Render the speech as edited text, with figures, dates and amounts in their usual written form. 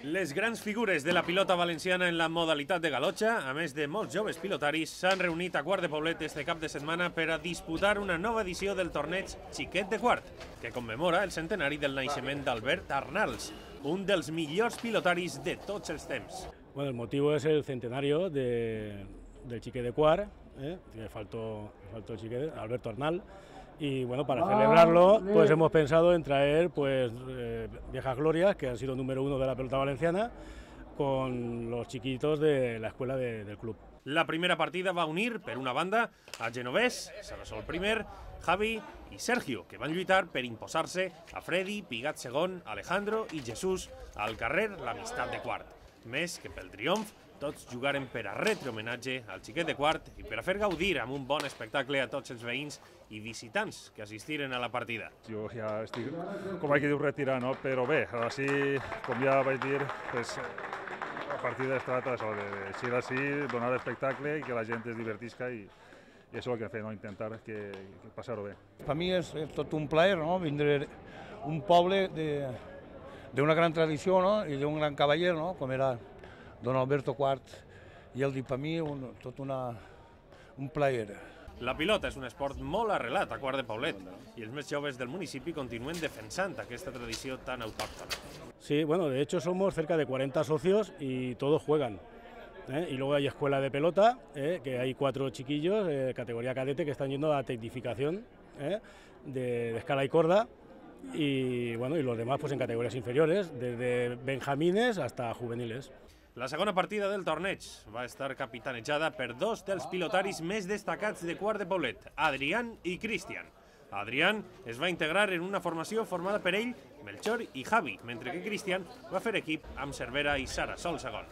Les grans figures de la pilota valenciana en la modalitat de galotxa, a més de molts joves pilotaris, s'han reunit a Quart de Poblet este cap de setmana per a disputar una nova edició del torneig Xiquet de Quart, que commemora el centenari del naixement d'Albert Arnals, un dels millors pilotaris de tots els temps. Bueno, el motivo es el centenario del Xiquet de Quart, que faltó el Xiquet, Alberto Arnal. Y bueno, para celebrarlo, pues hemos pensado en traer viejas glorias que han sido número 1 de la pelota valenciana con los chiquitos de la escuela del club. La primera partida va unir, per una banda, a Genovés, Sarasol primer, Javi i Sergio, que van lluitar per imposar-se a Freddy, Pigat segon, Alejandro i Jesús al carrer l'Amistat de Quart. Més que pel triomf, tots jugaren per a retre homenatge al Xiquet de Quart i per a fer gaudir amb un bon espectacle a tots els veïns i visitants que assistiren a la partida. Jo ja estic, com vaig dir, retirar, no? Però bé, així, com ja vaig dir, pues, la partida es trata de donar espectacle i que la gent es divertisca i això és el que fem, no? Intentar que passar-ho bé. Per mi és tot un plaer, no? Vindre un poble d'una gran tradició, no? I d'un gran cavaller, no? Com era don Alberto Quart, i el dit per mi tot un plaer. La pilota és un esport molt arrelat a Quart de Poblet i els més joves del municipi continuen defensant aquesta tradició tan autòctona. Sí, bueno, de hecho somos cerca de 40 socios y todos juegan. Y luego hay escuela de pelota, que hay 4 chiquillos, categoría cadete, que están yendo a la tecnificación de escala y corda. Y bueno, y los demás pues en categorías inferiores, desde benjamines hasta juveniles. La segona partida del torneig va estar capitanejada per dos dels pilotaris més destacats de Quart de Poblet, Adrián i Cristian. Adrián es va integrar en una formació formada per ell, Melchor i Javi, mentre que Cristian va fer equip amb Cervera i Sarasol segon.